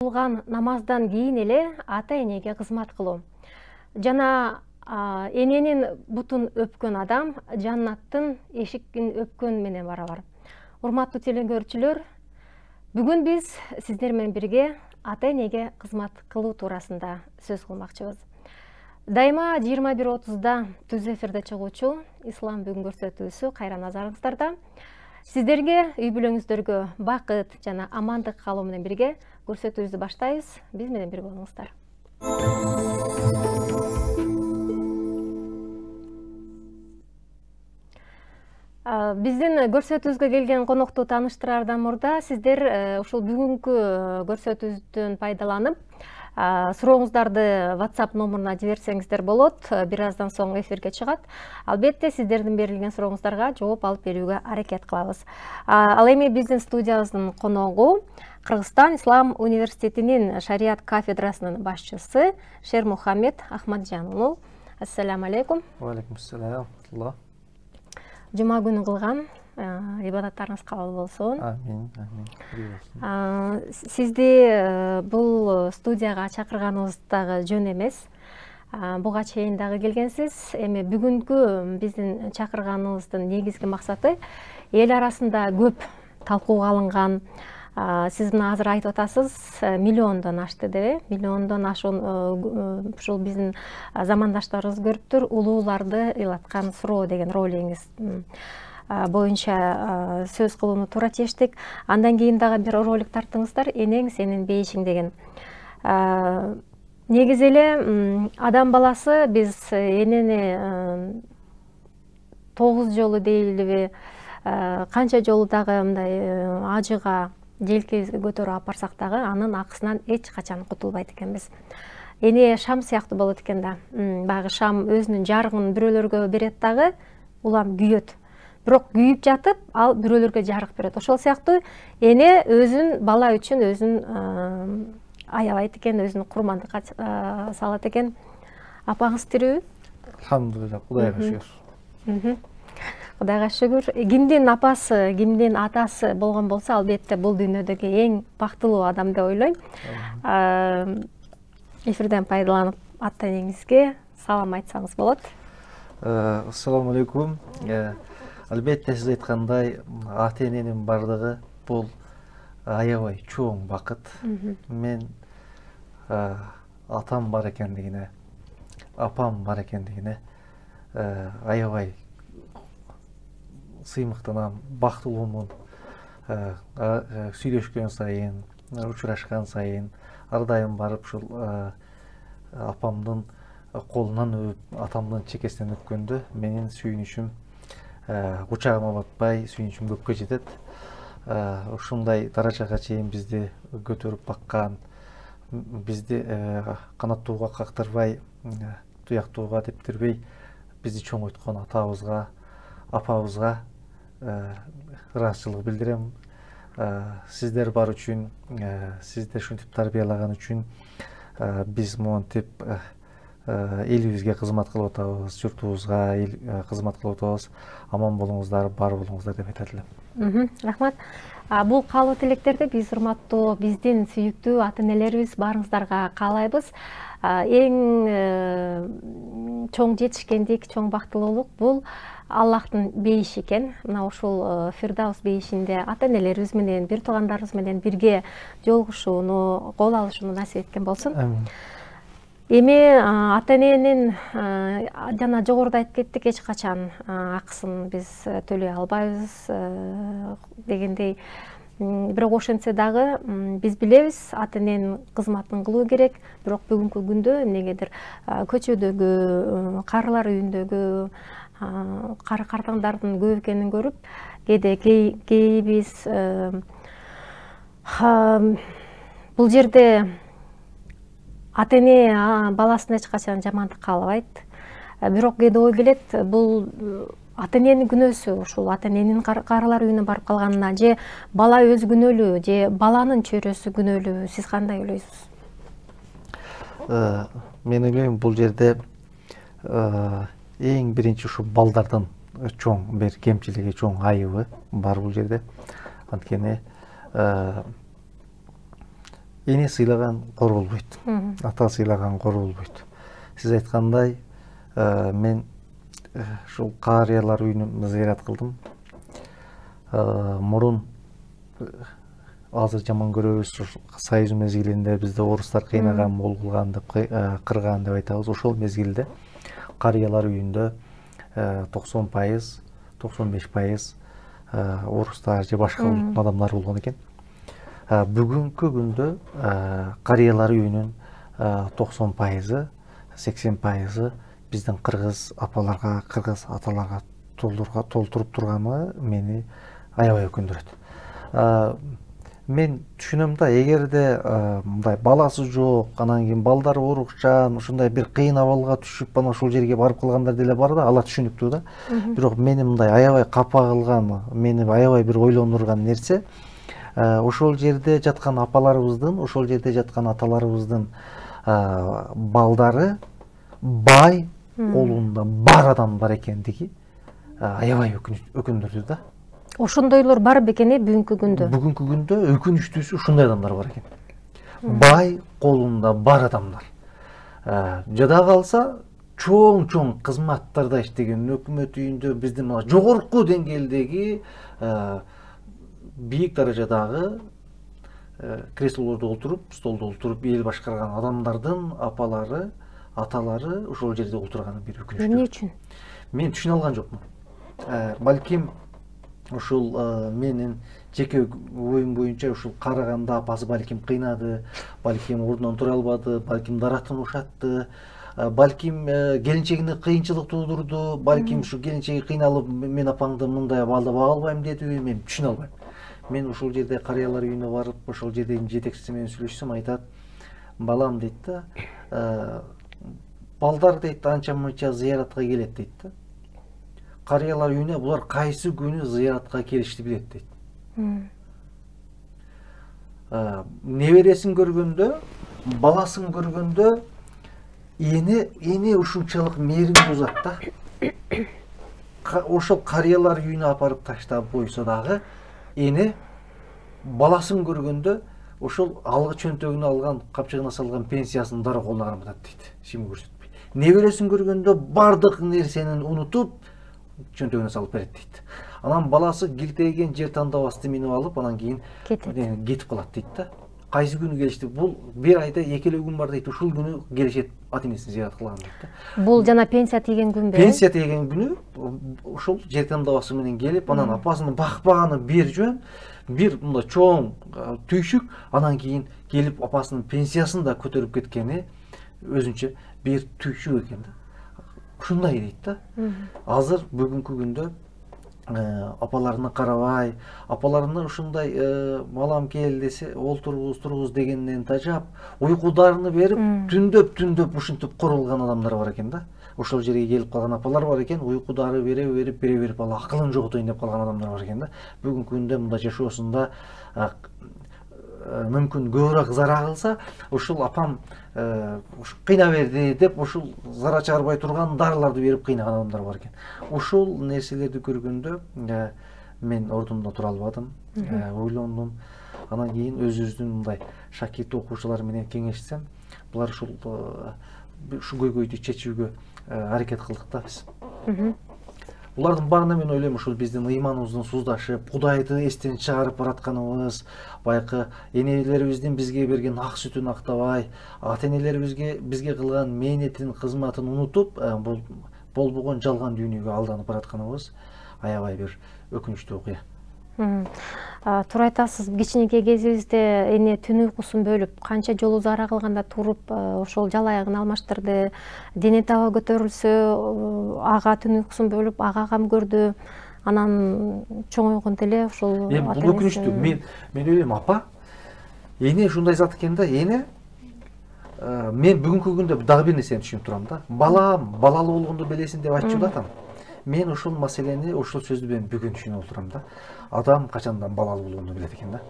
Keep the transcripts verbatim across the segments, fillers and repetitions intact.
Кылган намаздан кийин эле ата энеге кызмат кылуу. Жана эненин бутун өпкөн адам жаннаттын эшигин өпкөн менен барабар. Урматтуу телекөрүүчүлөр, бүгүн биз сиздер менен бирге ата энеге кызмат кылуу туурасында сөз кылмакчыбыз. Дайыма жыйырма бир отузда түз эфирде чыгуучу Ислам бүгүн көрсөтүүсү кайра назарыңыздарда. Сиздерге үй бүлөңүздөргө бакыт жана амандык каалоо менен бирге көрсөтүүбүздү баштайбыз. Биз менен бирге болуңуздар. Биздин көрсөтүүбүзгө келген конокту тааныштыраардан мурда сиздер ушул бүгүнкү көрсөтүүбүздөн пайдаланып сурооңуздарды WhatsApp номуруна жиберсеңиздер болот. Бир аздан соң эфирге чыгат. Албетте сиздердин берилген сурооңуздарга жооп алып берүүгө аракет кылабыз. Ал эми биздин студиябыздын коногу Кыргызстан Ислам университетинин шарият кафедрасынын башчысы Шермухаммед Ахмаджан уулу. Ассаламу алейкум. Ва алейкум ассалам. Жума күнү кылган ибадаттарыңыз кабыл болсун. Амин, амин. Сизди бул студияга чакырганыбыз дагы жөн эмес. Буга чейин дагы келгенсиз. Эми бүгүнкү биздин чакырганыбыздын негизги максаты эл арасында көп талкууга алынган, сиз мына азыр айтып атасыз, миллиондон ашты деп, миллиондон ашуун ушул биздин замандаштарыбыз көрүптүр, улууларды ыйлаткан суроо деген ролигиңиз боюнча сөз кылууну туура чечтик. Андан кийин дагы бир ролик тарттыңыздар, энең сенин бейишиң деген. Негизи эле адам баласы биз энени тогуз жолу дейлиби, канча жолу дагы мындай ажыга желке көтөрүп алып барсак дагы анын акысынан эч качан кутулбайт экенбиз. Эне шам сыяктуу болот экен да. Баягы шам өзүнүн жарыгын бирөөлөргө берет дагы, улам күйөт. Бирок күйүп жатып, ал бирөөлөргө жарык берет. Ошол сыяктуу эне өзүн бала үчүн өзүн аябайт экен, өзүн курмандыкка салат экен. Апаңыз тирүүбү? Алхамдулилlah, Кудайга шүгүр. Кудайга шүгүр. Кимдин апасы, кимдин атасы болгон болсо, албетте бул дүйнөдөгү эң бактылуу адам деп ойлойм. Эфирден пайдаланып ата энеңизге салам айтсаңыз болот. Ассаламу алейкум. Албетте сиз айткандай, ата эненин бардыгы бул аябай чоң бакыт. Мен атам бар экендигине, апам бар экендигине аябай сыймыктанам, бактылуумун. Сүйлөшкөн сайын, учурашкан сайын ар дайым барып ушул апамдын колунан өп, атамдын чекесинен өпкөндө менин сүйүнүчүм кучагыма батпай, сүйүнүчүм көпкө жетет. Ушундай даражага чейин бизди көтөрүп баккан, бизди канаттууга кактырбай, туяктууга тептирбей бизди чоңойткон атабызга, апабызга ыраазычылык билдирем. Сиздер бар үчүн, сиздер ушинтип тарбиялаган үчүн биз монтип элибизге кызмат кылып атабыз, журтубузга кызмат кылып атабыз. Аман болуңуздар, бар болуңуздар деп айтат элем. Рахмат. Бул каалоо тилектерди биз урматтуу биздин сүйүктүү ата энелерибиз баарыңыздарга каалайбыз. Эң чоң жетишкендик, чоң бактылуулук бул Аллахтын бейиши экен. Мына ушул Фирдаус бейишинде ата энелерибиз менен, бир туугандарыбыз менен бирге жолугушууну, кол алышууну насип эткен болсун. Эми ата эненин жана жогоруда айтып кеттик, эч качан акысын биз төлөй албайбыз дегендей. Бирок ошентсе дагы биз билебиз, ата эненин кызматын кылуу керек. Бирок бүгүнкү күндө эмнегедир көчөдөгү, карылар үйүндөгү кары картаңдардын көп экенин көрүп, кээде кейбиз бул жерде ата эне баласына эч качан жамандык каалабайт. Бирок кээде ой келет, бул ата эненин күнөөсү, ушул ата эненин карылар үйүнө барып калганына, же бала өзү күнөөлүү, же баланын чөйрөсү күнөөлүү. Сиз кандай ойлойсуз? Мен ойлойм, бул жерде эң биринчи ушу балдардын чоң бир кемчилиги, чоң айыбы бар бул жерде. Анткени эне сыйлаган кор болбойт, ата сыйлаган кор болбойт. Сиз айткандай, мен ушул карыялар үйүнүн зыярат кылдым. Мурун азыр жаман көрөбүз, Союз мезгилинде бизде орустар кыйнаган, мол кылган деп, кырган деп айтабыз. Ошол мезгилде карыялар үйүндө токсон пайыз, токсон беш пайыз орустар же башка улуттун адамдары болгон экен. Бүгүнкү күндө карыялар үйүнүн токсон пайызы, сексен пайызы биздин кыргыз апаларга, кыргыз аталарга толтуруп турганы мени аябай өкүндүрөт. Мен түшүнөм да, эгерде мындай баласы жок, анан кийин балдары оорукчан, ушундай бир кыйын абалга түшүп, анан ушул жерге барып калгандар деле бар да, ала түшүнүктүү да. Бирок мени мындай аябай капа кылган, мени аябай бир ойлондурган нерсе, ошол жерде жаткан апаларыбыздын, ошол жерде жаткан аталарыбыздын балдары бай колунда бар адамдар экендиги аябай өкүндүрдү да. Ошондойлор бар бекени бүгүнкү күндө? Бүгүнкү күндө өкүнүчтүүсү ушундай адамдар бар экен. Бай колунда бар адамдар. Жада калса чоң-чоң кызматтарда иштеген, өкмөт үйүндө биздин жогорку деңгээлдеги бийик даражадагы креслолордо отуруп, столдо отуруп эл башкарган адамдардын апалары, аталары ошол жерде отурганы бир өкүнүчтүү. Эмне үчүн? Мен түшүнө алган жокмун. Балким ушул менин жеке оюм боюнча ушул караганда апасы балким кыйнады, балким ордунан тура албады, балким даратын ушатты, балким келинчегине кыйынчылык туудурду, балким ушу келинчеги кыйналып мен апаңды мындай балда бага албайм дедиби, мен түшүнө албайм. Мен ушул жерде карыялар үйүнө барып, ошол жердеги жетекчиси менен сүйлөшсөм, айтат: балам дейт да, балдар дейт анча мынча зыяратка келет дейт да. Карыялар үйүнө булар кайсы күнү зыяратка келишти билет дейт. Небересин көргөндө, баласын көргөндө эне эне ушунчалык мээримдүү зат да. Ошол карыялар үйүнө апарып таштап койсо дагы эне баласын көргөндө ошол алгы чөнтөгүнө алган, капчыгына салган пенсиясын дароо колуна карматат дейт, ишин көрсөтпөй. Небересин көргөндө бардык нерсени унутуп чөнтөгүнө салып берет дейт. Анан баласы килтейген жер тандабасты минип алып, анан кийин кетип калат дейт да. Кайсы күнү келишти? Бул бир айда эки эле күн бар дейт. Ушул күнү келишет, ата энесин зыярат кылган дейт да. Бул жана пенсия тийген күнбү? Пенсия тийген күнү ушул жер тандабасы менен келип, анан апасынын бакпаганы бир жөн, бир мындай чоң түйшүк, анан кийин келип апасынын пенсиясын да көтөрүп кеткени өзүнчө бир түйшүк экен да. Ушундай дейт да. Азыр бүгүнкү күндө апаларына карабай, апаларына ушундай балам кел десе, олтургуз, тургуз дегенден тажап, уйкударыны берип, түндөп-түндөп ушинтип корулган адамдар бар экен да. Ошол жерге келип калган апалар бар экен, уйкудары бере берип, бере берип, ал акылын жоготойн деп калган адамдар бар экен да. Бүгүнкү күндө мындай жашоосунда мүмкүн көбүрөөк зара кылса, ушул апам кыйна берди деп ушул зара чыгарбай турган дарыларды берип кыйнаган адамдар бар экен. Ушул нерселерди көргөндө мен ордумда тура албадым, ойлондум. Анан кийин өзүбүздүн мындай шакирт окуучулар менен кеңешсем, булар ушул ушу көйгөйдү чечүүгө аракет кылдык да биз. Булардын баарына мен ойлойм, ушул биздин ыйманыбыздын суздашып, Кудайды эстен чыгарып баратканыбыз, байкы энелерибиздин бизге берген ак сүтүн актабай, ата энелерибизге бизге кылган мээнетин, кызматын унутуп, болбогон жалган дүйнөгө алданып баратканыбыз аябай бир өкүнүчтүү окуя. Туура айтасыз, кичинекей кезибизде эне түн уйкусун бөлүп, канча жолу зара кылганда туруп, ошол жал аягын алмаштырды. Дене таба көтөрүлсө, ага түн уйкусун бөлүп, ага кам көрдү. Анан чоңойгондо эле ошол ата энеси. Бул өкүнүчтүү. Мен мен ойлойм, апа, эне ушундай зат экен да, эне мен бүгүнкү күндө дагы бир нерсени түшүнүп турам да. Балам, балалуу болгондо белесиң деп айтчу да атам. Мен ушул маселени, ушул сөздү мен бүгүн түшүнүп отурам да. Адам качандан балалуу болгондо билет экен да.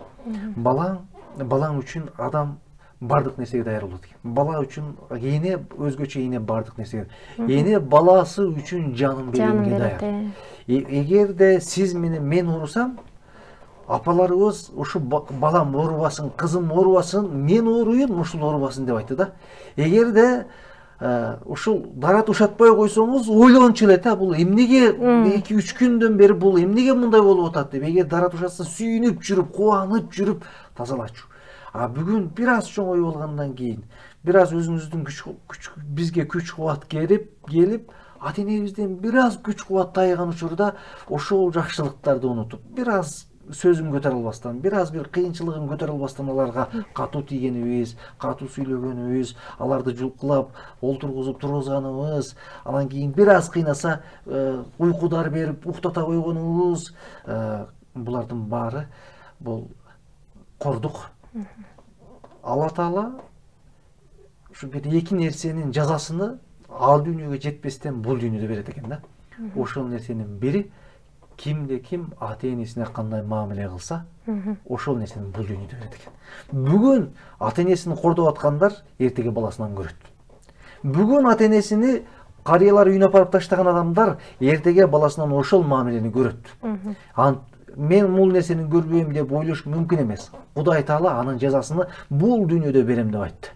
Балаң, балаң үчүн адам бардык нерсеге даяр болот экен. Бала үчүн эне өзгөчө эне бардык нерсеге. Эне баласы үчүн жанын бергенге даяр. Эгерде сиз менен мен урусам, апаларыбыз ушу балам оорубасын, кызым оорубасын, мен ооруйм, ушул оорубасын деп айтты да. Эгерде ушул дара ушатпай койсоңуз ойлогончу эле да, бул эмнеге эки үч күндөн бери бул эмнеге мындай болуп атат деп. Эгер дара ушатса сүйүнүп жүрүп, кубанып жүрүп тазалачу. А бүгүн бир аз чоңой болгондон кийин, бир аз өзүңүздүн күч бизге күч кубат келип, келип ата энебизден бир аз күч кубат тайган учурда ошол жакшылыктарды унутуп, бир аз сөзүн көтөрө албастан, бир аз бир кыйынчылыгын көтөрө албастан аларга катуу тийгенибиз, катуу сүйлөгөнүбүз, аларды жулкулап, олтургузуп тургузганыбыз, анан кийин бир аз кыйнаса уйкудар берип, уктата койгонубуз, булардын баары бул кордук. Алла Таала ушу бир эки нерсенин жазасыны ал дүйнөгө жетпестен бул дүйнөдө берет экен да. Ошол нерсенин бири кимде ким ата энесине кандай мамиле кылса, ошол нерсени бул дүйнөдө берет экен. Бүгүн ата энесин кордоп аткандар эртеге баласынан көрөт. Бүгүн ата энесини карыялар үйүнө апарып таштаган адамдар эртеге баласынан ошол мамилени көрөт. Мен бул нерсени көрбөйм деп ойлош мүмкүн эмес. Кудай Таала анын жазасыны бул дүйнөдө берем деп айтты.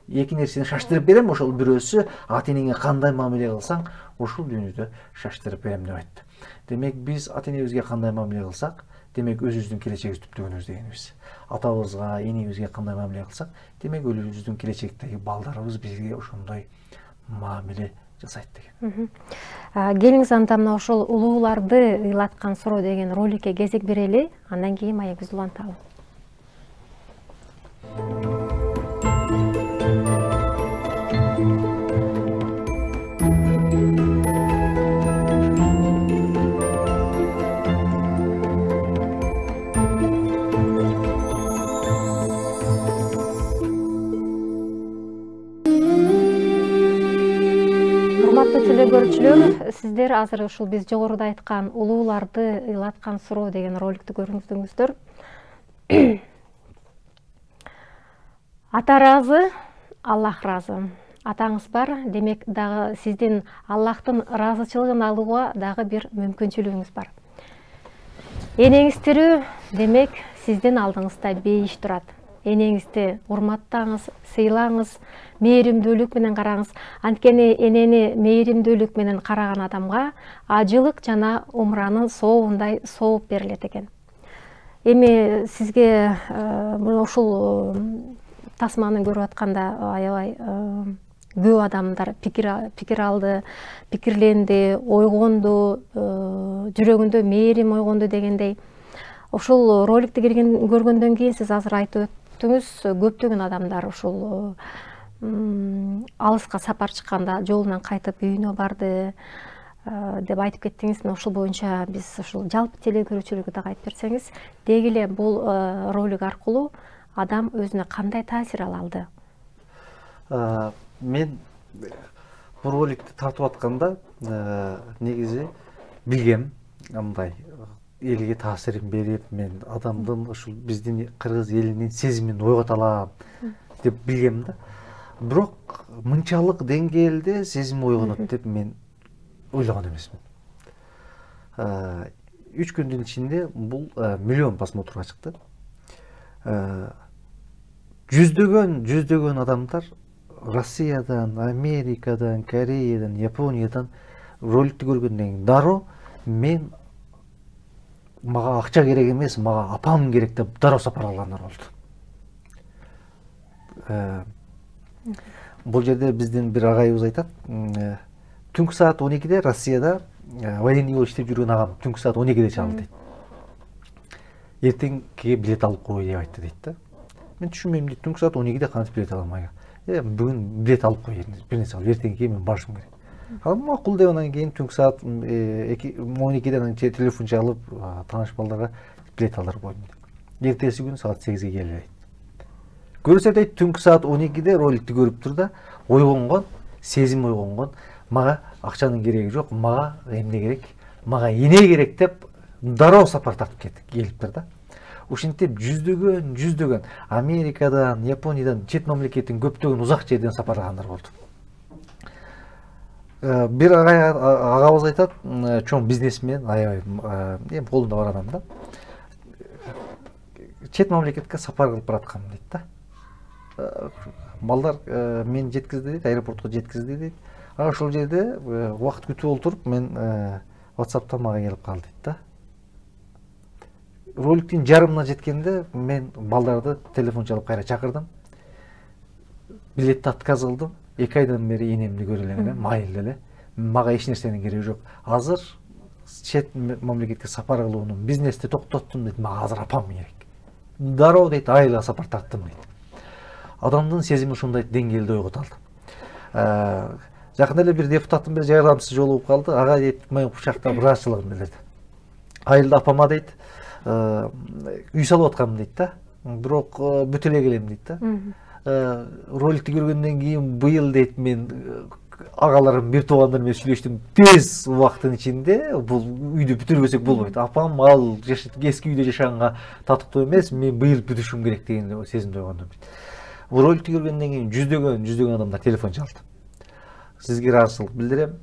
Эки нерсени шаштырып берем, ошол бирөөсү ата энеңе кандай мамиле кылсаң, ошол дүйнөдө шаштырып берем деп айтты. Демек биз ата энебизге кандай мамиле кылсак, демек өзүбүздүн келечегибизди түптөгөнүбүз дегенибиз. Атабызга, энебизге кандай мамиле кылсак, демек өзүбүздүн келечектеги балдарыбыз бизге ошондой мамиле жасайт деген. Келиңиз анда мына ошол улууларды ыйлаткан суроо деген роликке кезек берели, андан кийин маегибизди уланталы. Телегөрүүчүлөр, сиздер азыр ушул биз жогоруда айткан улууларды ыйлаткан суроо деген роликтти көрүңүздөр. Ата ыраазы, Аллах ыраазы. Атаңыз бар, демек дагы сиздин Аллахтын ыраазычылыгын алууга дагы бир мүмкүнчүлүгүңүз бар. Энеңиз тирүү, демек сиздин алдыңызда бейиш турат. Энеңизди урматтаңыз, сыйлаңыз, мээримдүүлүк менен караңыз. Анткени энени мээримдүүлүк менен караган адамга ажылык жана умранын сообундай сооп берилет экен. Эми сизге ушул тасманы көрүп атканда аябай көп адамдар пикир алды, пикирленди, ойгонду, жүрөгүндө мээрим ойгонду дегендей. Ушул роликти көргөндөн кийин сиз азыр айтып өттүңүз, көптөгөн адамдар ушул алыска сапар чыкканда жолунан кайтып үйүнө барды деп айтып кеттиңиз. Ошол боюнча биз ушул жалпы телекөрүүчүлөргө дагы айтып берсеңиз, деги эле бул ролик аркылуу адам өзүнө кандай таасир ала алды? Мен бул роликти тартып атканда негизи билгем, мындай элге таасирин берип, мен адамдын ушул биздин кыргыз элинин сезимин ойгото алам деп билгем да. Бирок мынчалык деңгээлде сезим ойгонот деп мен ойлогон эмесмин. Үч күндүн ичинде бул миллион просмотрга чыкты. Жүздөгөн, жүздөгөн адамдар Россиядан, Америкадан, Кореядан, Япониядан роликти көргөндөн кийин дароо мен мага акча керек эмес, мага апам керек деп дароо сапар алгандар болду. Бул жерде биздин бир агайыбыз айтат, түнкү саат он экиде Россияда военный болуп иштеп жүргөн агам түнкү саат он экиде чалды дейт. Эртеңки билет алып кой деп айтты дейт да. Мен түшүнбөйм дейт, түнкү саат он экиде кантип билет алам ага? Э, бүгүн билет алып кой, бир нерсе алып, эртеңки мен барышым керек. Ал макул деп анан кийин түнкү саат он экиден телефон чалып, тааныш балдарга билет алдырып койдум дейт. Эртеси күнү саат сегизге келе дейт. Көрсө дейт, түнкү саат он экиде роликти көрүп тур да, ойгонгон, сезим ойгонгон, мага акчанын кереги жок, мага эмне керек, мага эне керек деп дароо сапар тартып кетти, келиптир да. Ушинтип жүздөгөн, жүздөгөн Америкадан, Япониядан, чет мамлекеттин көптөгөн узак жерден сапарлагандар болду. Бир агабыз айтат, чоң бизнесмен, аябай эми колунда бар адам да. чет мамлекетке сапар кылып бараткам дейт да. Балдар мен жеткизди дейт, аэропортко жеткизди дейт. А ошол жерде убакыт күтүп олтуруп мен WhatsApp'та мага келип калды дейт да. Роликтин жарымына жеткенде мен балдарды телефон чалып кайра чакырдым. Билетти отказ кылдым. эки айдан бери энемди көрө элем, майыл эле. Мага эч нерсенин кереги жок. Азыр чет мамлекетке сапар кылуунун бизнести токтоттум дейт. Мага азыр апам керек. Дароо дейт, айылга сапар тарттым дейт. Адамдын сезими ушундай деңгээлде ойгото алды. Жакында эле бир депутаттын бир жардамчысы жолугуп калды. Ага дейт, мен кучакта ыраазычылыгын билдирди. Айылда апама дейт, үй салып аткам дейт да. Бирок бүтө эле келем дейт да. Роликти көргөндөн кийин быйыл дейт мен агаларым, бир туугандар менен сүйлөштүм. Тез убакыттын ичинде бул үйдү бүтүрбөсөк болбойт. Апам ал эски үйдө жашаганга татыктуу эмес, мен быйыл бүтүшүм керек деген сезимде ойгондум. Бул роликти көргөндөн кийин жүздөгөн жүздөгөн адамдар телефон чалды. Сизге ыраазычылык билдирем.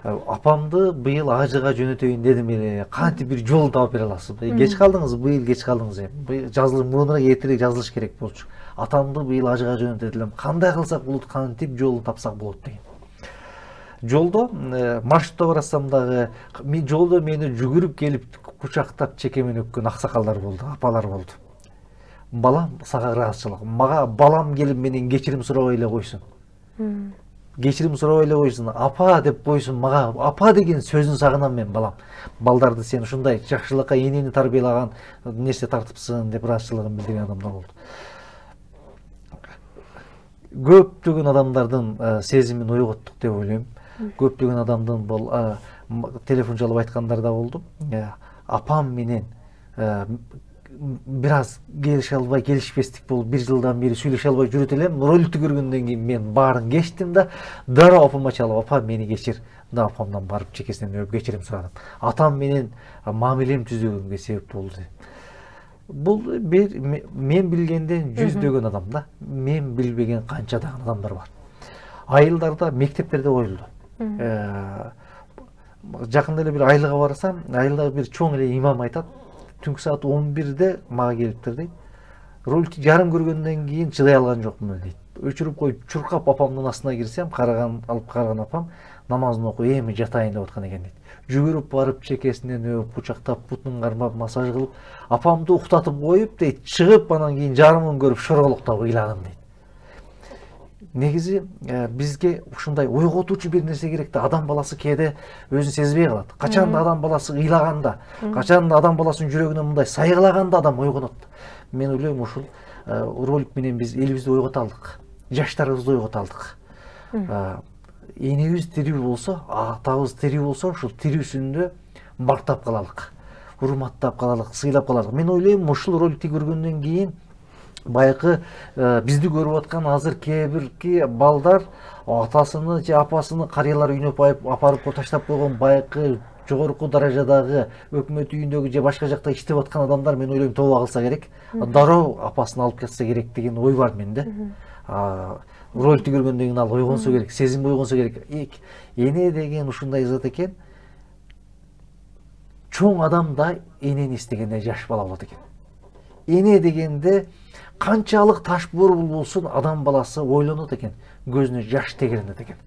Апамды быйыл ажыга жөнөтөйүн дедим эле. Кантип бир жолун таап бере аласызбы? Кеч калдыңыз, быйыл кеч калдыңыз эми. Жазылыш мурунураак эртерээк жазылыш керек болчу. Атамды быйыл ажыга жөнөтөт элем. Кандай кылсак болот, кантип жолун тапсак болот деген. Жолдо маршрутта барасам дагы, мен жолдо мени жүгүрүп келип кучактап чекемен өпкөн аксакалдар болду, апалар болду. Балам, сага ыраазычылык. Мага балам келип менен кечирим сурабай эле койсун. Кечирим сурабай эле койсун. Апа деп койсун мага. Апа деген сөзүн сагынам мен балам. Балдарды сен ушундай жакшылыкка энени тарбиялаган нерсе тартыпсың деп ыраазычылыгын билдирген адамдар болду. Көптөгөн адамдардын сезимин ойготтук деп ойлойм. Көптөгөн адамдын бул телефон чалып айткандар да болду. Апам менен бир аз келише албай, келишпестик болуп, бир жылдан бери сүйлөшө албай жүрөт элем. Роликти көргөндөн кийин мен баарын кечтим да, дароо апама чалып, апа мени кечир. Да апамдан барып чекесинен өп кечирим сурадым. Атам менен мамилем түзөгөнгө себеп болду. Бул бир мен билгенден жүздөгөн адам да. Мен билбеген канчадаган адамдар бар. Айылдарда, мектептерде коюлду. Жакында эле бир айылга барсам, айылда бир чоң эле имам айтат. Түнкү саат он бирде мага келиптир дейт. Роликти жарым көргөндөн кийин чыдай алган жокмун дейт. Өчүрүп коюп чуркап апамдын астына кирсем, караган алып караган апам намазын окуп эми жатайын деп аткан экен дейт. Жүгүрүп барып чекесинен өп, кучактап, бутун кармап, массаж кылып, апамды уктатып коюп дейт, чыгып анан кийин жарымын көрүп шорголуктап ыйладым дейт. Негизи бизге ушундай ойготуучу бир нерсе керек да. Адам баласы кээде өзүн сезбей калат. Качан да адам баласы ыйлаганда, качан да адам баласынын жүрөгүнө мындай сайгылаганда адам ойгонот. Мен ойлойм ушул ролик менен биз элибизди ойгото алдык, жаштарыбызды ойгото алдык. Энебиз тирүү болсо, атабыз тирүү болсо, ушул тирүүсүндө мактап калалык, урматтап калалык, сыйлап калалык. Мен ойлойм ушул роликти көргөндөн кийин байкы бизди көрүп аткан азыр кээ бирки балдар атасыны же апасыны карыялар үйүнө апарып таштап койгон байкы жогорку даражадагы өкмөт үйүндөгү же башка жакта иштеп аткан адамдар мен ойлойм тооба кылса керек. Дароо апасын алып кетсе керек деген ой бар менде. Роликти көргөндөн кийин ал ойгонсо керек, сезим ойгонсо керек. Эне деген ушундай зат экен. Чоң адам да энени истегенде жаш бала болот экен. Эне дегенде канчалык таш борбул болсун адам баласы ойлонот экен, көзүнө жаш тегеренет экен.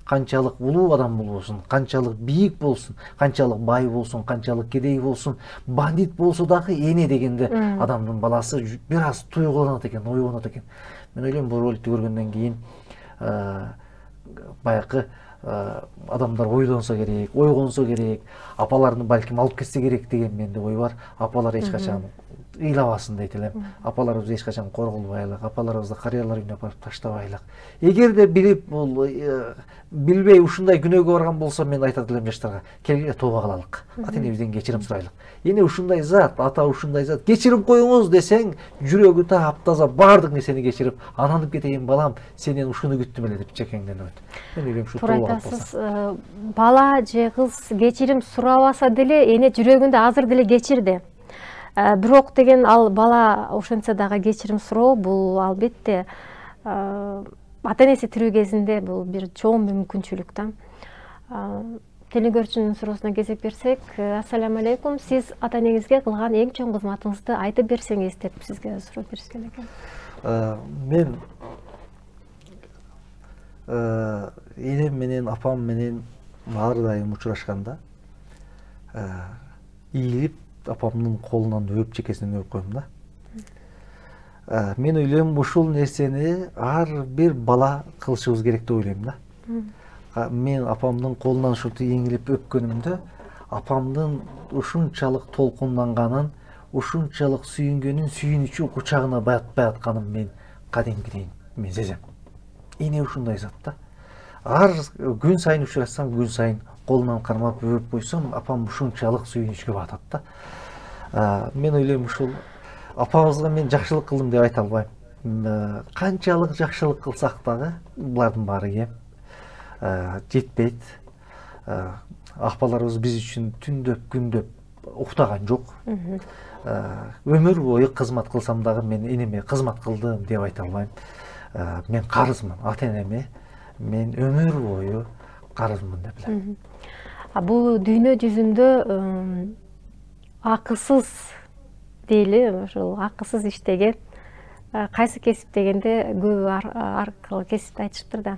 Канчалык улуу адам болбосун, канчалык бийик болсун, канчалык бай болсун, канчалык кедей болсун, бандит болсо дагы эне дегенде адамдын баласы бир аз туйгуланат экен, ойгонот экен. Мен ойлойм бул роликти көргөндөн кийин байкы адамдар ойлонсо керек, ойгонсо керек, апаларын балким алып кетсе керек деген менде ой бар. Апалар эч качан ыйлабасын дейт элем. Апаларыбыз эч качан корголбайлык, апаларыбызды карыялар үйүнө апарып таштабайлык. Эгерде билип бул билбей ушундай күнөөгө барган болсо мен айтат элем жаштарга, келгиле тооба кылалык. Ата энебизден кечирим сурайлык. Эне ушундай зат, ата ушундай зат, кечирип коюңуз десең, жүрөгү таптаза баардык нерсени кечирип, ананып кетейин балам, сенен ушуну күттүм эле деп чекеңден өт. Мен ойлойм ушу тооба болсо. Бала же кыз кечирим сурабаса деле эне жүрөгүндө азыр деле кечирди. Бирок деген ал бала ошентсе дагы кечирим суроо бул албетте ата энеси тирүү кезинде бул бир чоң мүмкүнчүлүк да. телекөрүүчүнүн суроосуна кезек берсек, ассаламу алейкум, сиз ата энеңизге кылган эң чоң кызматыңызды айтып берсеңиз деп сизге суроо беришкен экен. Мен энем менен апам менен ар дайым учурашканда ийилип апамдын колунан өп, чекесинен өп коем да. Мен ойлойм, ушул нерсени ар бир бала кылышыбыз керек деп ойлойм да. Мен апамдын колунан ушинтип эңилип өпкөнүмдө, апамдын ушунчалык толкунданганын, ушунчалык сүйүнгөнүн, сүйүнүчү кучагына батпай атканын мен кадимкиден мен сезем. Эне ушундай зат да. Ар күн сайын учурашсам, күн сайын колунан кармап өп койсом, апам ушунчалык сүйүнүчкө батат да. Мен ойлойм, ушул апабызга мен жакшылык кылдым деп айта албайм. Канчалык жакшылык кылсак дагы булардын баары кем. Жетпейт. Апаларыбыз биз үчүн түндөп, күндөп уктаган жок. Өмүр бою кызмат кылсам дагы мен энеме кызмат кылдым деп айта албайм. Мен карызмын ата энеме. Мен өмүр бою карызмын деп билем. Бул дүйнө жүзүндө акысыз дейли, ошол акысыз иштеген, кайсы кесип дегенде көбү ар кыл кесипти айтышыптыр да.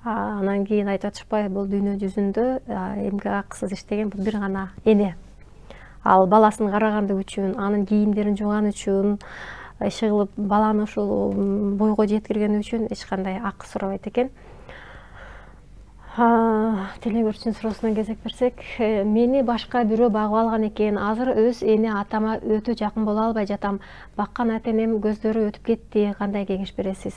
Анан кийин айтып атышпайбы, бул дүйнө жүзүндө эмгек акысыз иштеген бул бир гана эне. Ал баласын карагандык үчүн, анын кийимдерин жууган үчүн, иши кылып баланы ушул бойго жеткирген үчүн эч кандай акы сурабайт экен. Телекөрүүчүнүн суроосуна кезек берсек, мени башка бирөө багып алган экен. Азыр өз эне атама өтө жакын боло албай жатам. Баккан ата энем көздөрү өтүп кетти. Кандай кеңеш бересиз?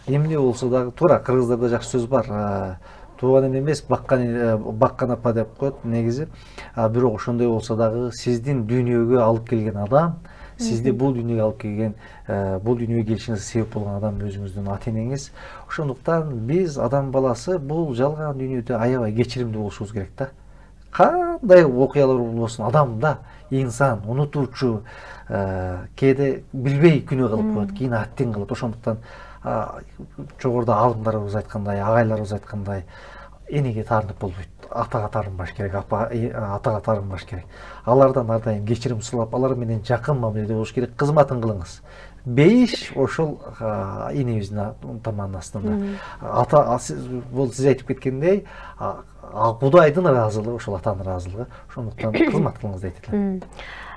Эмне болсо дагы туура, кыргыздарда жакшы сөз бар. Тууган эне эмес, баккан апа деп коет негизи. Бирок ошондой болсо дагы сиздин дүйнөгө алып келген адам, сизди бул дүйнөгө алып келген, бул дүйнөгө келишиңизге себеп болгон адам өзүңүздүн ата энеңиз. Ошондуктан биз адам баласы бул жалган дүйнөдө аябай кечиримдүү болушубуз керек да. Кандай окуялар болбосун, адам да, инсан, унутуучу, кээде билбей күнөө кылып коет, кийин аттин кылат. Ошондуктан жогоруда алымдарыбыз айткандай, агайларыбыз айткандай, энеге таарынып болбойт. Атага таарынбаш керек, атага таарынбаш керек. Алардан ар дайым кечирим сурап, алар менен жакын мамиледе болуш керек. Кызматын кылыңыз. Бейиш ошол энебиздин таманын астында. Ата бул сиз айтып кеткендей, Кудайдын ыраазылыгы, ошол атанын ыраазылыгы. Ошондуктан кызмат кылыңыз дейт элем.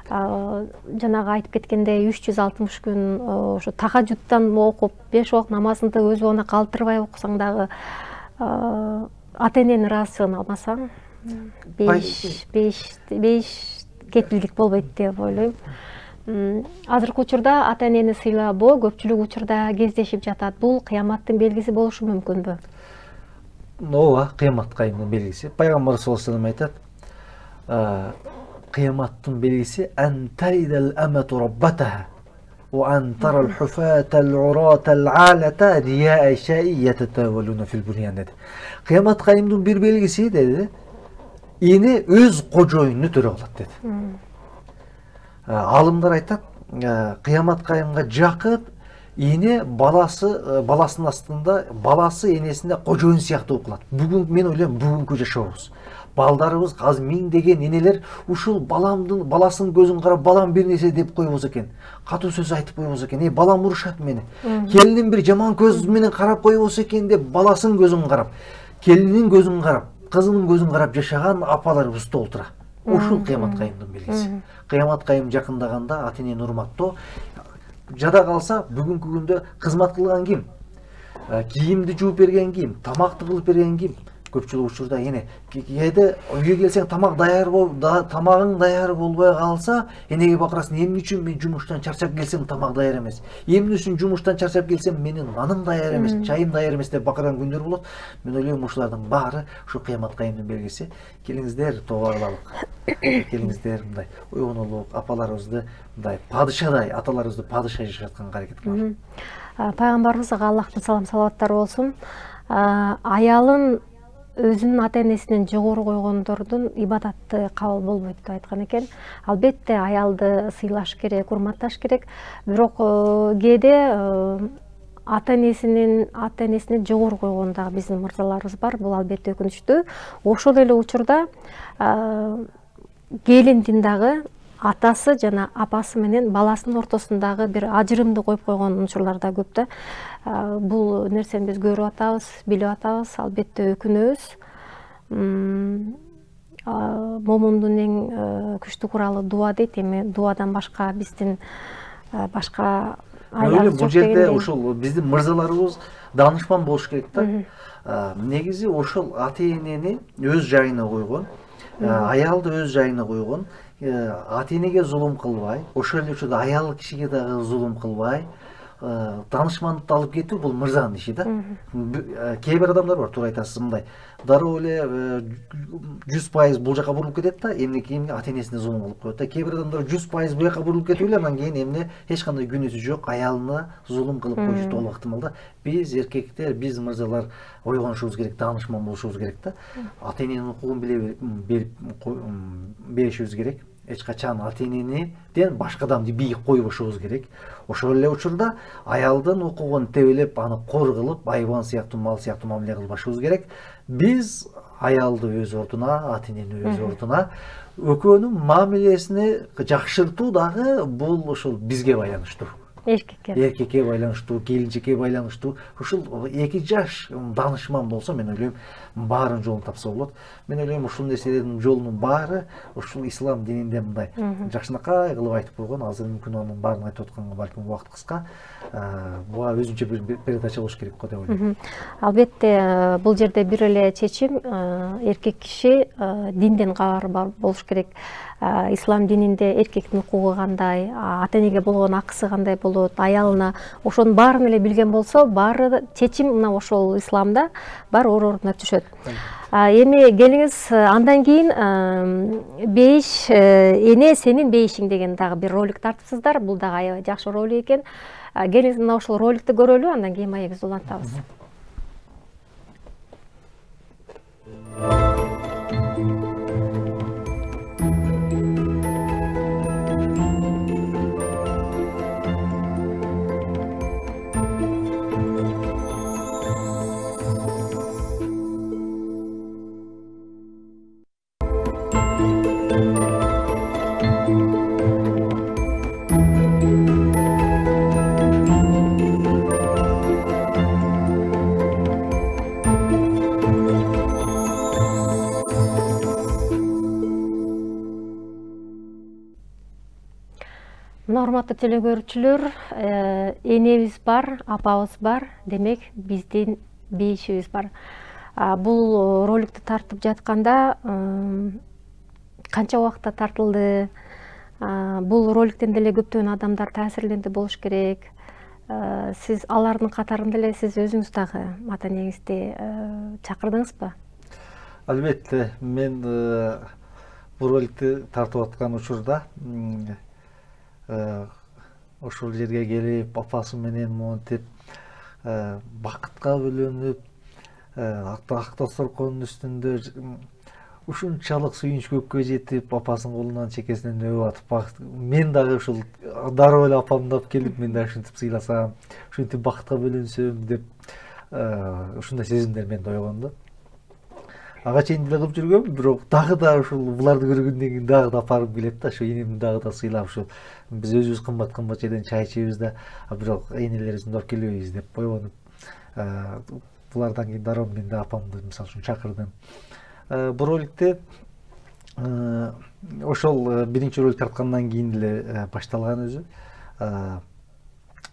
Жанагы айтып кеткендей үч жүз алтымыш күн ошо тахажжуттан окуп, беш убак намазыңды өз убагында калтырбай окусаң дагы ата эненин ыраазычылыгын алмасаң, беш беш кепилдик болбойт деп ойлойм. Азыркы учурда ата энени сыйлабоо көпчүлүк учурда кездешип жатат. Бул кыяматтын белгиси болушу мүмкүнбү? Ооба, кыямат кайымдын белгиси. Пайгамбар саллаллаху алейхи вассалам айтат, кыяматтын белгиси антаридал амату раббатаха ва антарал хуфатал уратал алата рия шаи ятатавалуна фил буньян dedi. Кыямат кайымдын бир белгиси dedi, эне өз кожоюнду төрө кылат dedi. Алымдар айтат, кыямат кайымга жакын эне баласы баласынын астында, баласы энесинде кожоюн сыяктуу кылат. Бүгүн мен ойлойм, бүгүнкү жашообуз, балдарыбыз азыр миңдеген энелер ушул баламдын баласынын көзүн карап, балам бир нерсе деп койбосо экен, катуу сөз айтып койбосо экен, эй балам урушат мени, келиним бир жаман көз менен карап койбосо экен деп баласынын көзүн карап, келининин көзүн карап, кызынын көзүн карап жашаган апаларыбыз толтура. Ушул кыямат кайымдын белгиси. Кыямат кайым жакындаганда ата энени урматтоо. Жада калса, бүгүнкү күндө кызмат кылган ким? Кийимди жууп берген ким? Тамакты кылып берген ким? Көпчүлүк учурда эне кээде үйгө келсең тамак даяр бол, тамагың даяр болбой калса, энеге бакырасың, эмне үчүн мен жумуштан чарчап келсем тамак даяр эмес? Эмне үчүн жумуштан чарчап келсем менин наным даяр эмес, чайым даяр эмес деп бакырган күндөр болот. Мен ойлойм, ушулардын баары ушу кыямат кайымдын белгиси. Келиңиздер, тоого кылалык. Келиңиздер, мындай ойгонолук, апаларыбызды мындай падышадай, аталарыбызды падыша жашатканга аракет кылалы. Пайгамбарыбызга Аллахтын салам салаваттары болсун. Аялын өзүнүн ата энесинен жогору койгондордун ибадаты кабыл болбойт деп айткан экен. Албетте аялды сыйлаш керек, урматташ керек. Бирок кээде ата энесинин ата энесине жогору койгон дагы биздин мырзаларыбыз бар. Бул албетте өкүнүчтүү. Ошол эле учурда келиндин дагы атасы жана апасы менен баласынын ортосундагы бир ажырымды коюп койгон учурлар да көп да. Бул нерсени биз көрүп атабыз, билип атабыз, албетте өкүнөбүз. Момундун эң күчтүү куралы дуа дейт. Эми дуадан башка биздин башка айлабыз жок дегендей. Бул жерде ошол биздин мырзаларыбыз даанышман болуш керек да. Негизи ошол ата энени өз жайына койгон, аялды өз жайына койгон, ата энеге зулум кылбай, ошол эле учурда аял кишиге дагы зулум кылбай, даанышмандыкты алып кетүү бул мырзанын иши да. Кээ бир адамдар бар, туура айтасыз, мындай дароо эле жүз пайыз бул жака бурулуп кетет да, эмне кийин ата энесине зулум кылып коет да. Кээ бир адамдар жүз пайыз бул жака бурулуп кетип эле анан кийин эмне эч кандай күнөөсү жок аялына зулум кылып коюшу болуп ыктымал да. Биз эркектер, биз мырзалар ойгонушубуз керек, даанышман болушубуз керек да. Ата эненин укугун биле берип беришибиз керек. Эч качан ата энениден башкадан бийик койбошубуз керек. Ошол эле учурда аялдын укугун тебелеп, аны кор кылып, айбан сыяктуу, мал сыяктуу мамиле кылбашыбыз керек. Биз аялды өз ордуна, ата энени өз ордуна, экөөнүн мамилесин жакшыртуу дагы бул ошол бизге байланыштуу. Эркекке. Эркекке байланыштуу, келинчекке байланыштуу. Ушул эки жаш даанышман болсо, мен ойлойм, баарын жолун тапса болот. Мен ойлойм, ушул нерселердин жолунун баары ушул ислам дининде мындай жакшынакай кылып айтып койгон. Азыр мүмкүн анын баарын айтып атканга балким убакыт кыска. Буга өзүнчө бир передача болуш керек го деп ойлойм. Албетте, бул жерде бир эле чечим, эркек киши динден кабары болуш керек. Ислам дининде эркектин укугу кандай, ата энеге болгон акысы кандай болот, аялына, ошонун баарын эле билген болсо, баары чечим мына ошол исламда баары оор ордуна түшөт. Эми келиңиз, андан кийин бейиш эне сенин бейишиң деген дагы бир ролик тартыпсыздар. Бул дагы аябай жакшы ролик экен. Келиңиз, мына ошол роликти көрөлү, андан кийин маегибизди улантабыз. Урматтуу теле көрүүчүлөр, энебиз бар, апабыз бар, демек биздин бейишибиз бар. Бул роликти тартып жатканда канча убакытта тартылды? Бул роликтен деле көптөгөн адамдар таасирленди болуш керек. Сиз алардын катарында эле сиз өзүңүз дагы ата энеңизди чакырдыңызбы? Албетте, мен бул роликти тартып аткан учурда ошол жерге келип, апасы менен монтип, бакытка бөлөнүп, ак тосторконун үстүндө ушунчалык сүйүнүч көккө жетип, апасынын колунан чекесинен өбүп атып, мен дагы ушул дароо эле апамды алып келип, мен дагы ушинтип сыйласам, ушинтип бакытка бөлөнсөм деп, ушундай сезимдер менде ойгонду. Ага чейин деле кылып жүргөм, бирок дагы да ушул буларды көргөндөн кийин дагы да апарып келет да, ошо энемди дагы да сыйлап, ушул биз өзүбүз кымбат-кымбат жерден чай ичебиз да, бирок энелерибизди алып келбейбиз деп ойгонуп, булардан кийин дароо мен да апамды мисалы үчүн чакырдым. Бул роликте ошол биринчи ролик тарткандан кийин эле башталган өзү.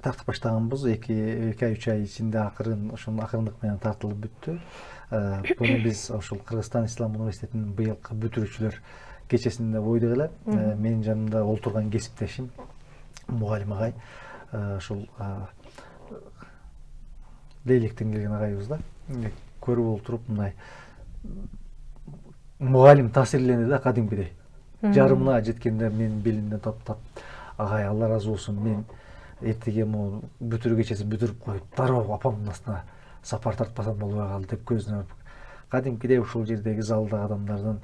Тартып баштаганбыз, эки ай үч ай ичинде акырын ошонун акырындык менен тартылып бүттү. Буну биз ошол Кыргызстан Ислам университетинин быйылкы бүтүрүүчүлөр кечесинде ойдук эле. Менин жанымда олтурган кесиптешим мугалим агай, ошол Лейлектен келген агайыбыз да. Көрүп олтуруп мындай мугалим таасирленди да кадимкидей. Жарымына жеткенде менин белимден таптап, агай Алла ыраазы болсун, мен эртеге могу бүтүрүү кечеси бүтүрүп коюп, дароо апамдын астына сапар тартпасам болбой калды деп көзүнө кадимкидей ушул жердеги залдагы адамдардын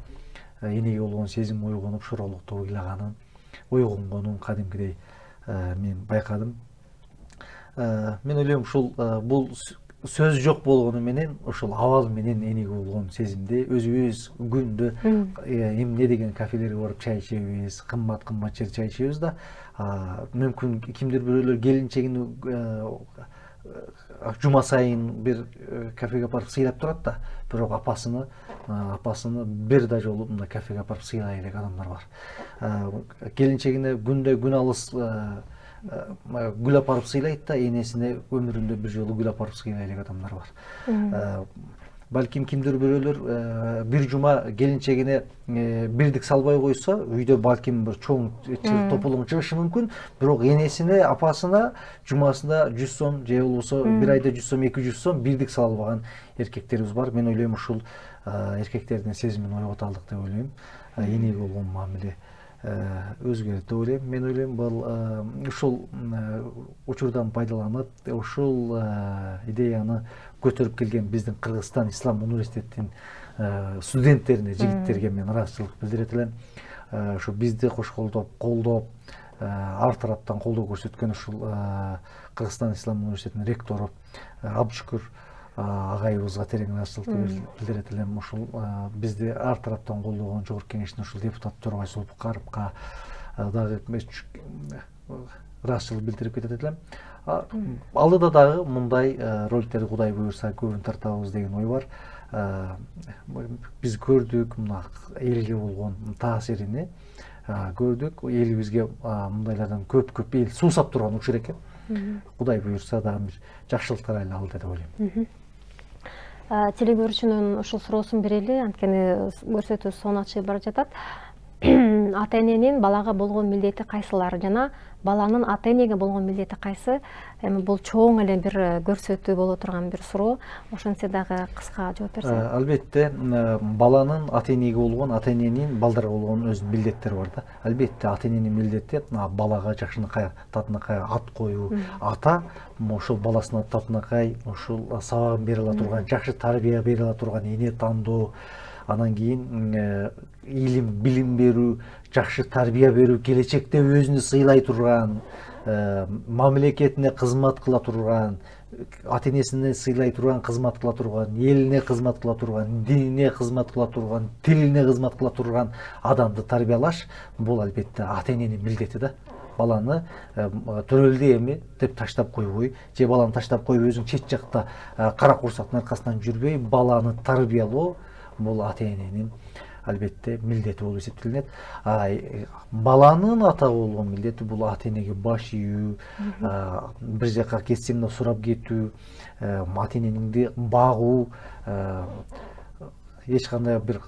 энеге болгон сезим ойгонуп, шоролукту ойлаганын, ойгонгонун кадимкидей мен байкадым. мен ойлойм ушул бул сөз жок болгону менен ошол абал менен энеги болгон сезимди өзүбүз күндө эмне деген кафелерге барып чай ичебиз, кымбат кымбат жерде чай ичебиз да мүмкүн кимдир бирөөлөр келинчегин жума сайын бир кафеге апарып сыйлап турат да, бирок апасыны апасыны бир да жолу мындай кафеге апарып сыйлай элек адамдар бар. Келинчегине күндө күн алыс гүл апарып сыйлайт да, энесине өмүрүндө бир жолу гүл апарып сыйлай элек адамдар бар. Балким кимдир бирөөлөр бир жума келинчегине бирдик салбай койсо, үйдө балким бир чоң тополоң чыгышы мүмкүн, бирок энесине, апасына жумасында жүз сом же болбосо бир айда жүз сом, эки жүз сом бирдик сала албаган эркектерибиз бар. Мен ойлойм ушул эркектердин сезимин ойготалдык деп ойлойм. Энеги болгон мамиле өзгөрөт деп ойлойм. Мен ойлойм бул ушул учурдан пайдаланып, ушул идеяны көтөрүп келген биздин Кыргызстан Ислам университетинин студенттерине, жигиттерге мен ыраазычылык билдирет элем. Ушу бизди кош колдоп, колдоп, ар тараптан колдоо көрсөткөн ушул Кыргызстан Ислам университетинин ректору Абдышүкүр агайыбызга терең ыраазычылык билдирет элем. Ушул бизди ар тараптан колдогон жогорку кеңештин ушул депутат Төрбай Зулпукаровго дагы ыраазычылык билдирип кетет элем. Алдыда дагы мындай роликтерди Кудай буйрса көбүн тартабыз деген ой бар. Биз көрдүк мына элге болгон таасирини, көрдүк. Элибизге мындайлардан көп-көп эл суусап турган учур экен. Кудай буйрса дагы бир жакшылыктар эле алды деп ойлойм. Телекөрүүчүнүн ушул суроосун берели, анткени көрсөтүү сонуна чыгып бара жатат. Ата эненин балага болгон милдети кайсылар жана баланын ата энеге болгон милдети кайсы? Эми бул чоң эле бир көрсөтүү боло турган бир суроо. Ошентсе дагы кыска жооп берсең. Албетте, баланын ата энеге болгон, ата эненин балдарга болгон өзүнүн милдеттери бар да. Албетте, ата эненин милдети балага жакшынакай, татынакай ат коюу. Ата ошол баласынын татынакай ушул сабагын бере ала турган, жакшы тарбия бере ала турган эне тандоо, анан кийин илим, билим берүү, жакшы тарбия берүү, келечекте өзүнү сыйлай турган, мамлекетине кызмат кыла турган, ата энесине сыйлай турган, кызмат кыла турган, элине кызмат кыла турган, динине кызмат кыла турган, тилине кызмат кыла турган адамды тарбиялаш бул албетте ата эненин милдети да. Баланы төрөлдү эми деп таштап койбой, же баланы таштап коюп өзүң чет жакта кара курсактын аркасынан жүрбөй, баланы тарбиялоо бул ата эненин албетте милдети болуп эсептелинет. Баланын атага болгон милдети бул ата энеге баш ийүү, бир жака кетсем да сурап кетүү, ата энеңди багуу, эч кандай бир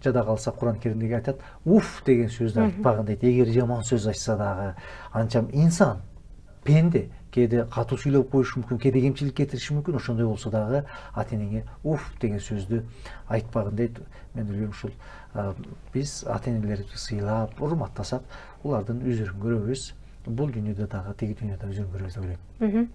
жада калса Куран Керимдеги айтат, уф деген сөздү айтпагын дейт. Эгер жаман сөз айтса дагы, анчам инсан, пенде, кээде катуу сүйлөп коюшу мүмкүн, кээде кемчилик кетириши мүмкүн, ошондой болсо дагы ата энеңе уф деген сөздү айтпагын дейт. Мен ойлойм ушул биз ата энелерибизди сыйлап, урматтасак, улардын үзүрүн көрөбүз. Бул дүйнөдө дагы, тиги дүйнөдө үзүрүн көрөбүз деп ойлойм.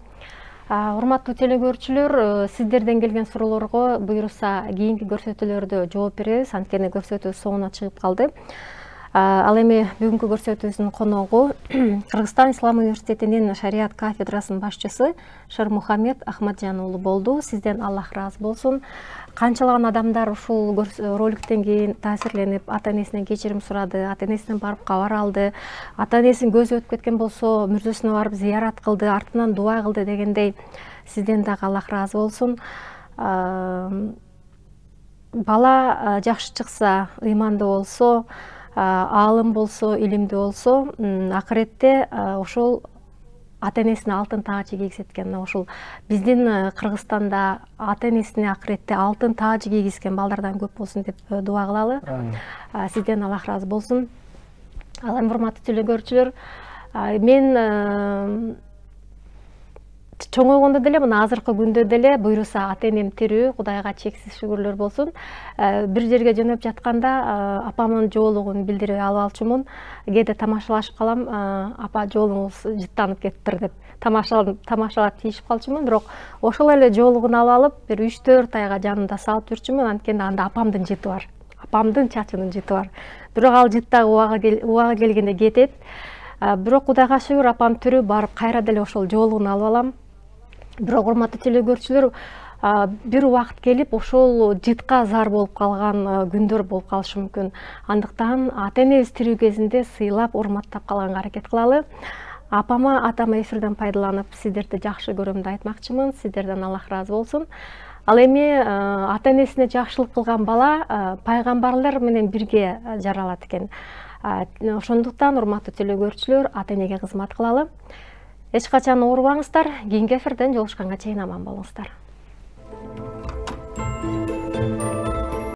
Урматтуу телекөрүүчүлөр, сиздерден келген суроолорго буюрса кийинки көрсөтүүлөрдө жооп беребиз, анткени көрсөтүү соңуна чыгып калды. Ал эми бүгүнкү көрсөтүүбүздүн коногу Кыргызстан Ислам университетинин шарият кафедрасынын башчысы Шермухамед Ахмаджан уулу болду. Сизден Аллах ыраазы болсун. Канчалаган адамдар ушул роликтен кийин таасирленип, ата энесинен кечирим сурады, ата энесинен барып кабар алды, ата энесинин көзү өтүп кеткен болсо мүрзөсүнө барып зыярат кылды, артынан дуа кылды дегендей. Сизден дагы Аллах ыраазы болсун. Бала жакшы чыкса, ыймандуу болсо, аалым болсо, илимдүү болсо, акыретте ошол ата энесине алтын таажы кийгизет экен. Ошол биздин Кыргызстанда ата энесине акыретте алтын таажы кийгизген балдардан көп болсун деп дуа кылалы. Сизден Аллах ыраазы болсун. Ал эми урматтуу телекөрүүчүлөр, мен чоңойгондо деле, мына азыркы күндө деле буйруса ата энем тирүү, Кудайга чексиз шүгүрлөр болсун. Бир жерге жөнөп жатканда апамдын жоолугун билдирип алып алчумун. Кээде тамашалашып калам, апа жоолуңуз жыттанып кетиптир деп тамашалап тийишип калчумун. Бирок ошол эле жоолугун алып алып, бир үч төрт айга жанымда салып жүрчүмүн, анткени анда апамдын жыты бар. Апамдын чачынын жыты бар. Бирок ал жыт дагы убагы келгенде кетет. Бирок Кудайга шүгүр, апам тирүү, барып кайра деле ошол жоолугун алып алам. Бирок урматтуу теле көрүүчүлөр, бир убакыт келип ошол жытка зар болуп калган күндөр болуп калышы мүмкүн. Андыктан ата энебиз тирүү кезинде сыйлап, урматтап калганга аракет кылалы. Апама, атама эфирден пайдаланып, сиздерди жакшы көрөм деп айтмакчымын. Сиздерден Аллах ыраазы болсун. Ал эми ата энесине жакшылык кылган бала пайгамбарлар менен бирге жаралат экен. Ошондуктан урматтуу теле көрүүчүлөр, ата энеге кызмат кылалы. Эч качан оорубаңыздар. Кийинки эфирден жолугушканга чейин аман болуңуздар.